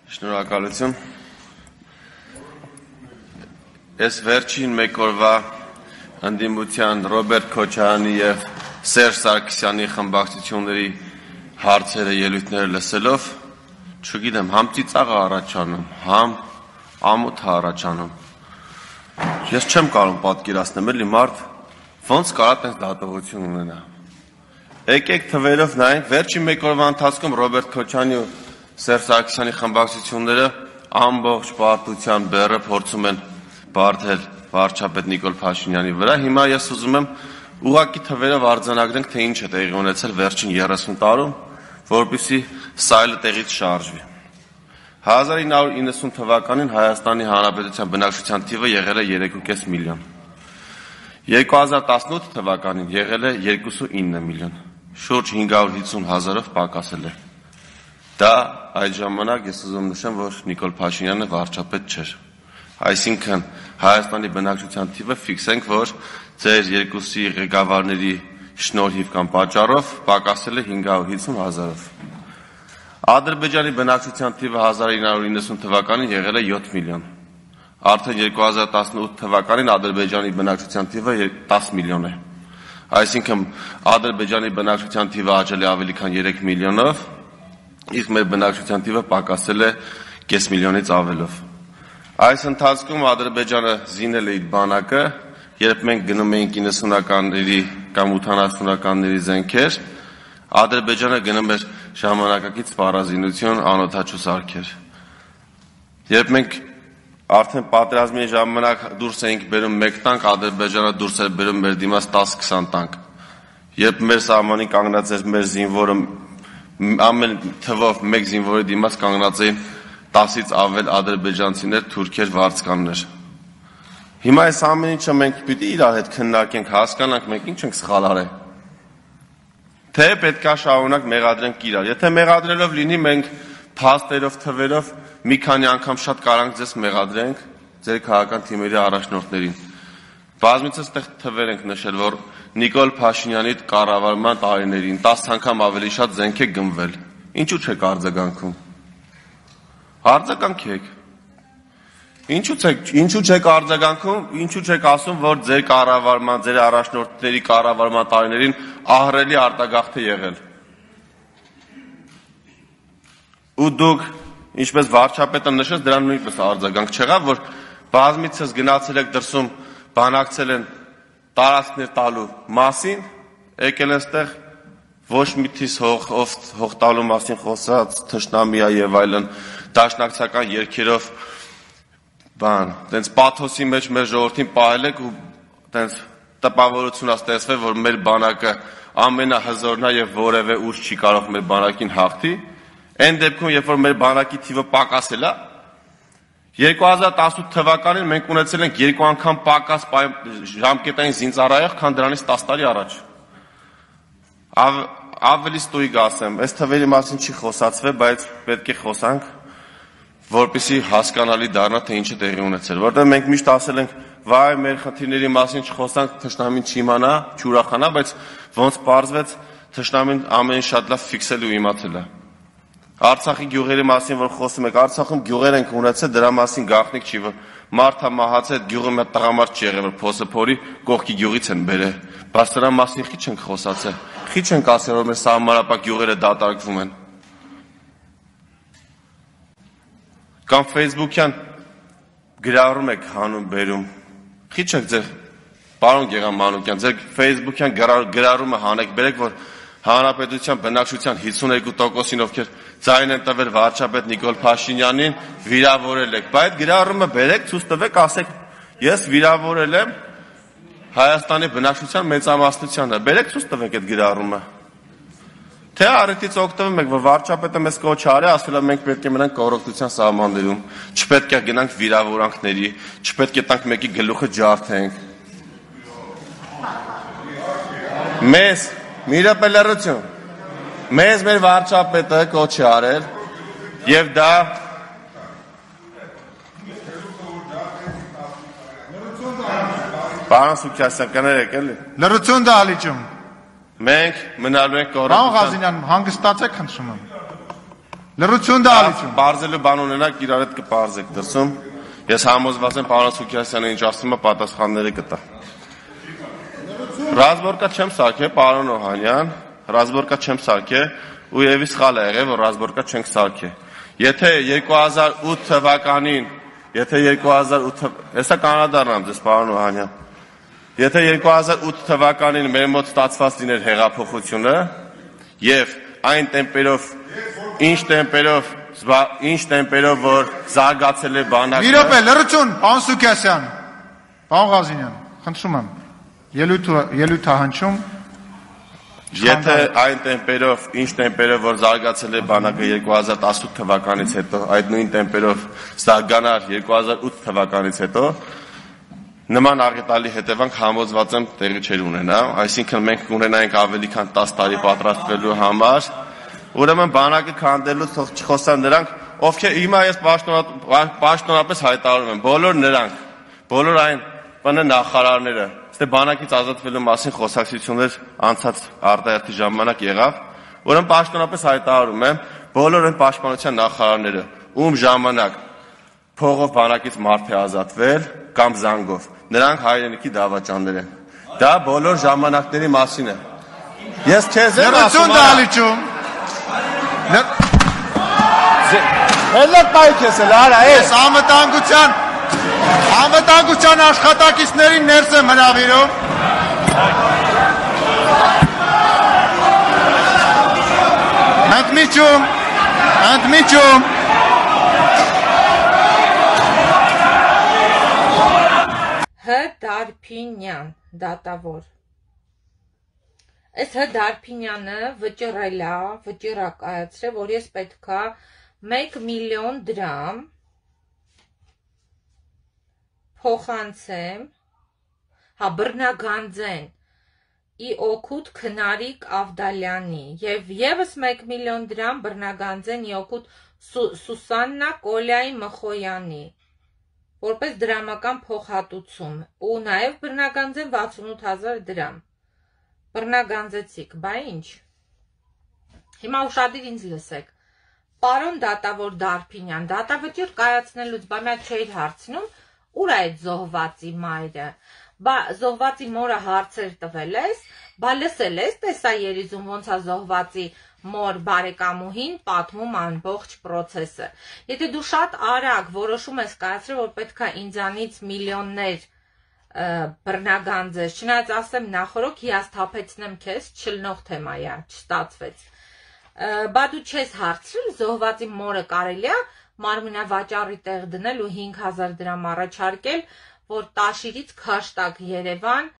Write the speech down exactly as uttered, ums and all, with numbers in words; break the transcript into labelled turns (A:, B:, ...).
A: Շնորհակալություն։ Ես վերջին մեկ օրվա ընդդիմության Ռոբերտ Քոչարյանի եւ Սերժ Սարգսյանի խմբակցությունների հարցերը ելույթները լսելով, չգիտեմ, համ ծիծաղ առաջանում, համ ամոթ առաջանում։ Ես չեմ կարող պատկերացնել, էլի մարդ ոնց կարա տենց դատողություն ունենա։ Եկեք թվերով նայենք, վերջին մեկ օրվա ընթացքում Ռոբերտ Քոչարյանի ու Սերժ Սարգսյանի խմբակցությունները ամբողջ պարտության բեռը փորձում են բարդել վարչապետ Նիկոլ Փաշինյանի վրա։ Հիմա ես ուզում եմ ուղղակի թվերով արձանագրենք, թե ինչ է տեղի ունեցել վերջին երեսուն տարում, որպեսզի սայլը տեղից շարժվի։ հազար ինը հարյուր իննսուն թվականին Հայաստանի Հանրապետության բնակչության թիվը եղել է երեք ու կես միլիոն։ երկու հազար տասնութ թվականին եղել է երկուսուինը միլիոն, շուրջ հինգ հարյուր հիսուն հազարով պակասել է։ Դա այդ ժամանակ ես ուզում նշեմ, որ Նիկոլ Փաշինյանը վարչապետ չէր։ Այսինքն Հայաստանի բնակչության թիվը ֆիքսենք, որ ձեր երկուսի ղեկավարների շնորհիվ կամ պատճառով պակասել է հինգ հարյուր հիսուն հազարով։ Ադրբեջանի բնակչության թիվը հազար ինը հարյուր իննսուն թվականին եղել է յոթ միլիոն։ Արդեն երկու հազար տասնութ թվականին Ադրբեջանի բնակչության թիվը դես միլիոն է։ Այսինքն Ադրբեջանի բնակչության թիվը աճել է ավելի քան երեք միլիոնով, իսկ մեր բնակչության թիվը պակասել է կես միլիոնից ավելով։ Այս ընթացքում Ադրբեջանը զինել է իր բանակը, երբ մենք գնում էինք իննսունականների կամ ութանասունականների զենքեր, Ադրբեջանը գնում էր ժամանակակից սպառազինություն, անօդաչու սարքեր։ Երբ մենք արդեն պատերազմի ժամանակ դուրս էինք բերում մեկ տանկ, Ադրբեջանը դուրս էր բերում մեր դիմաց տաս-քսան տանկ։ Երբ մեր սահմանին կանգնած էր մեր զինվորը, ամեն թվով մեկ զինվորի դիմաց կանգնած էին տասից ավել ադրբեջանցիներ, թուրքեր, վարձկաններ։ Հիմա այս ամեն ինչը մենք պիտի իրար հետ քննարկենք, հասկանանք մենք ինչ ենք սխալ արել։ Թե պետք է շարունակ մեղադրենք իրար։ Եթե մեղադրելով լինի, մենք փաստերով, թվերով մի քանի անգամ շատ կարանք ձեզ մեղադրենք ձեր քաղաքական թիմերի առաջնորդներին։ Բազմիցս տեղ թվեր ենք նշել, որ Նիկոլ Փաշինյանի կառավարման տարիներին տաս անգամ ավելի շատ զենք է գնվել։ Ինչու չեք արձագանքում։ Արձագանքեք։ Ինչու չեք, ինչու չեք արձագանքում, ինչու չեք ասում, որ ձեր կառավարման, ձեր առաջնորդների կառավարման տարիներին ահռելի արտագաղթ է եղել։ Ու դուք, ինչպես վարչապետը նշեց, դրան նույնպես արձագանք չեղավ, որ բազմիցս գնացել եք դրսում, բանակցել են տարածքներ տալու մասին, եկել են ստեղ ոչ միտիս հող, հող տալու մասին խոսած, թշնամիա եւ այլն, դաշնակցական երգերով բան, տենց պաթոսի մեջ մեր ժողովրդին պահել եք ու տենց տպավորություն ստեղծվել, որ մեր բանակը ամենահզորն է եւ որևէ ուժ չի կարող մեր բանակին հաղթի։ Այն դեպքում, երբ որ մեր բանակի թիվը պակասել է, երկու հազար տասնութ թվականին մենք ունեցել ենք երկու անգամ պակաս ժամկետային զինծառայող, քան դրանից տաս տարի առաջ։ Ավ, ավելի ստույգ ասեմ, այս թվերի մասին չի խոսացվել, բայց պետք է խոսանք, որպեսզի հասկանալի դառնա, թե ինչ է տեղի ունեցել, որտեղ մենք միշտ ասել ենք, վայ, մեր խնդիրների մասին չխոսանք, թշնամին չիմանա, չուրախանա, բայց ոնց պարզվեց, թշնամին ամեն շատ լավ ֆիքսել ու իմացել է։ Արցախի գյուղերի մասին, որ խոսում եք, Արցախում գյուղեր ենք ունեցել, դրա մասին գաղտնիք չի, որ մարդը մահացել, գյուղը մի տղամարդ չի եղել, որ փոսը փորի, կողքի գյուղից են բերել, բայց դրա մասին խի չենք խոսացել, խի չենք ասել, որ մեր սահմանապակ գյուղերը դատարկվում են։ Կամ Facebook-յան գրառում եք հանում բերում, խի չեք ձեր, պարոն Գեգամ Մանուկյան, ձեր Facebook-յան գրառումը հանեք, բերեք, որ Հանրապետության բնակչության հիսունյոթ տոկոսին, ովքեր ձայն են տվել վարչապետ Նիկոլ Փաշինյանին, վիրավորել եք, բայց գրառումը բերեք, ցույց տվեք, ասեք, ես վիրավորել եմ Հայաստանի բնակչության մեծամասնությանը, բերեք ցույց տվեք այդ գրառումը։ Թե առիթից օգտվում եք, որ վարչապետը մեզ կոչ արի, ասել է մենք պետք է մնանք կոռուպցիոն սահմաններում, չպետք է գնանք վիրավորանքների, չպետք է տանք մեկի գլուխը ջարդենք։ Մեզ Միրապե լրություն, մեզ մեր վարչապետը կոչ է արել և դա Պարոն Սուքյասյան, կներեք էլի։
B: Լրություն դահլիճում։
A: Մենք մնալու ենք կոռուպցիոն։
B: Պարոն Ղազինյան, հանգստացեք խնդրում եմ։ Լրություն դալիչում։
A: Բարձելու բան ունենաք, իրար հետ կպարզեք դրսում։ Ես համոզված եմ պարոն Սուքիասյանը ինչ ասում է, պատասխանները կտա։ Ռազմորկա չեմ սարքե, պարոն Օհանյան, ռազմորկա չեմ սարքե, ու եւի սխալ է եղել, որ ռազմորկա չենք սարքե։ Եթե երկու հազար ութ թվականին, եթե երկու հազար ութ, հեսա կանադառնամ ձեզ, պարոն Օհանյան։ Եթե երկու հազար ութ թվականին մեր մոտ ստացված լիներ հեղափոխությունը եւ այն տեմպերով, ինչ տեմպերով, ինչ տեմպերով որ զարգացել է բանակը։
B: Մի րոպե, լրություն, պարոն Սուքիասյան, պարոն Ղազինյան, խնդրում եմ, ելույթ հնչում։
A: Եթե այն տեմպերով, ինչ տեմպերով որ զարգացել է բանակը երկու հազար տասնութ թվականից հետո, այդ նույն տեմպերով զարգանար երկու հազար ութ թվականից հետո, նման աղետալի հետևանք համոզված եմ տեղի չէր ունենա, այսինքն մենք կունենայինք ավելի քան տասը տարի պատրաստվելու համար, ուրեմն բանակը քանդելու թող չխոսան նրանք, ովքեր հիմա ես պաշտոնապես հայտարարում եմ, բոլոր նրանք, բոլոր այն ՊՆ նախարարները, Ստե բանակից ազատվելու մասին խոսակցություններ անցած արտահերթի ժամանակ եղավ, ուրեմն պաշտոնապես հայտարարում եմ, բոլոր այն պաշտպանության նախարարները, ում ժամանակ փողով բանակից մարդ է ազատվել կամ զանգով, նրանք հայրենիքի դավաճաններ են։ Դա բոլոր ժամանակների մասին է։ Ես քեզ եմ ասում,
B: դալիչում։
A: Հելը կայք ես էլ, արա,
B: ես անվտանգության Անվտանգության աշխատակիցներին ներս եմ հրավիրում։ Ընդմիջում, ընդմիջում։
C: Հ. Դարփինյան, դատավոր։ Այս Հ. Դարփինյանը վճռել է, վճիռ կայացրել, որ ես պետքա մեկ միլիոն դրամ փոխանցեմ, հա բռնագանձեն ի օգուտ Քնարիկ Ավդալյանի եւ եւս մեկ միլիոն դրամ բռնագանձեն ի օգուտ Սուսաննա Կոլյայի Մխոյանի որպես դրամական փոխհատուցում ու նաեւ բռնագանձեն վաթսունութ հազար դրամ բռնագանձեցիք, բա ինչ հիմա ուշադիր ինձ լսեք պարոն դատավոր Դարփինյան դատավճիռ կայացնելուց բա մի չէր հարցնում Ուր այդ զոհվածի մայրը, բա զոհվածի մորը հարցեր տվել ես, բա լսել ես տեսա երիզում ոնց է զոհվածի մոր բարեկամուհին պատմում ամբողջ process-ը։ Եթե դու շատ արագ որոշում ես կայացրել, որ պետքա ինձանից միլիոններ բռնագանձես, չնայած ասեմ նախորոք հիասթափեցնեմ քեզ, չլնող թեմայա, չստացվեց։ Բա դու չես հարցրել զոհվածի մորը կարելի է մարմինավաճառի տեղ դնել ու հինգ հազար դրամ առաջարկել, որ Տաշիրից Քաշտակ Երևան